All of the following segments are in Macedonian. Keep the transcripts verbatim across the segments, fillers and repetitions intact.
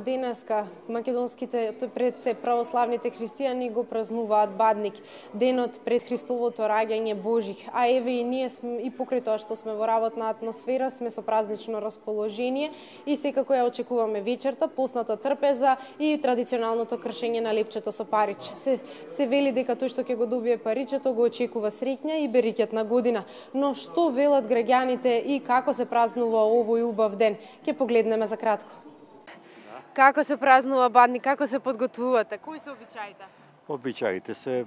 Денеска македонските пред се православните христијани го празнуваат Бадник, денот пред Христовото раѓање Божих. А еве и ние сме, и покрај тоа што сме во работна атмосфера, сме со празнично расположение и секако ја очекуваме вечерта, постната трпеза и традиционалното кршење на лепчето со париче. Се, се вели дека тој што ќе го добие паричето го очекува среќна и берекет на година. Но што велат граѓаните и како се празнува овој убав ден? Ќе погледнеме за кратко. Како се празнува Бадник, како се подготвувате? Кои се обичаите? Обичаите се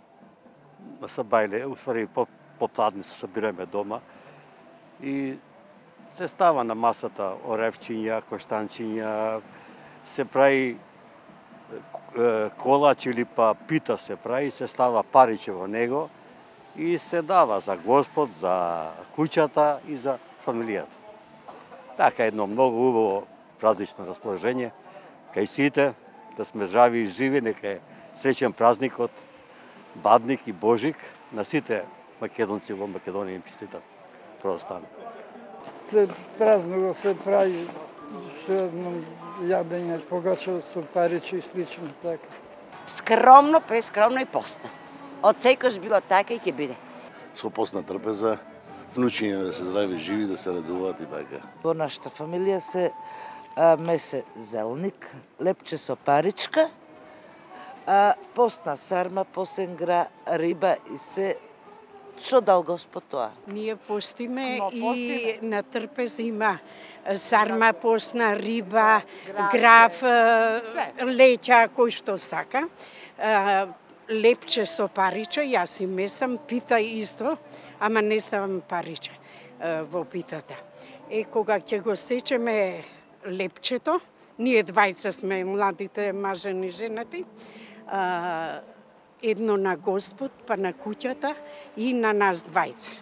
са бајле, уствари по попладне се собираме дома и се става на масата оревчиња, коштанчиња, се прави колач или па пита се прави, се става париче во него и се дава за Господ, за куќата и за фамилијата. Така едно многу убаво празнично расположение. Кај сите, да сме здрави и живи, нека е среќен празникот, Бадник и Божик, на сите македонци во Македонија им честитам православни. Се празнува, се прави, што ја знам, јадење, погача со париче и слично така. Скромно, прескромно и постно. Од секојаш било така и ќе биде. Со постна трпеза, внучиња да се здрави, живи, да се радуваат и така. Во нашата фамилија се а, месе зелник, лепче со паричка, а, постна сарма, посенгра, риба и се што дал Господ тоа. Ние постиме Но, и на трпез има сарма, постна, риба, граф, леќа, кој што сака. Лепче со париче, јас и месам, пита исто, ама не ставам париче во питата. Е, кога ќе го сечеме лепчето, ние двајца сме младите мажени женати, едно на Господ, па на куќата и на нас двајца.